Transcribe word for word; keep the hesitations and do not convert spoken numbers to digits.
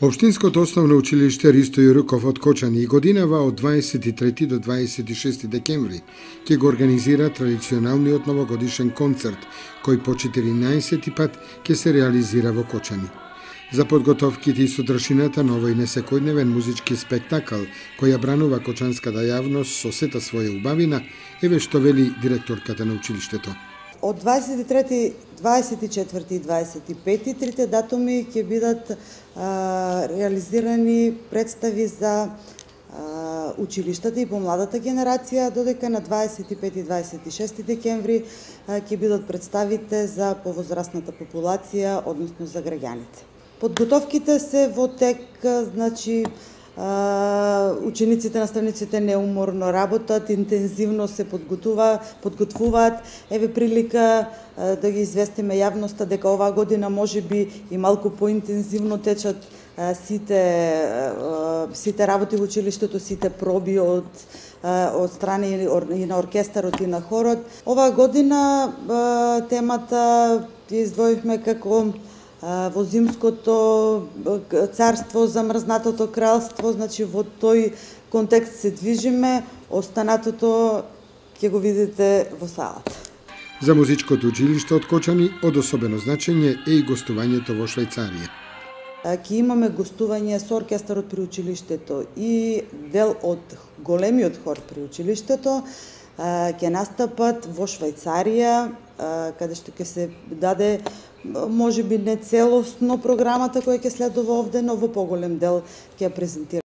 Општинското основно училиште Ристо Јуруков од Кочани и годинава од дваесет и трети до дваесет и шести декември ќе го организира традиционалниот новогодишен концерт, кој по четиринаесети пат ќе се реализира во Кочани. За подготовките и содржината на овој несекојдневен музички спектакл, кој ја бранува кочанската јавност со сета своја убавина, еве што вели директорката на училиштето. Од дваесет и трети, дваесет и четврти и дваесет и пети трите датуми ќе бидат а, реализирани представи за а, училиштата и помладата генерација, додека на дваесет и пети и дваесет и шести декември а, ќе бидат представите за повозрастната популација, односно за граѓаните. Подготовките се во тек, значи учениците, наставниците неуморно работат, интензивно се подготува, подготвуваат. Еве прилика да ги известиме јавноста дека оваа година можеби и малку поинтензивно течат сите сите работи во училиштето, сите проби од од страни и на оркестарот и на хорот. Оваа година темата ја издвоивме како во зимското царство, замрзнатото кралство, значи во тој контекст се движиме, останатото ќе го видите во салата. За музичкото училиште од Кочани од особено значење е и гостувањето во Швајцарија. Ќе имаме гостување со оркестарот при училиштето и дел од големиот хор при училиштето ќе настапат во Швајцарија, каде што ќе се даде можеби не целосно програмата која ќе следува овде, но во поголем дел ќе ја презентира.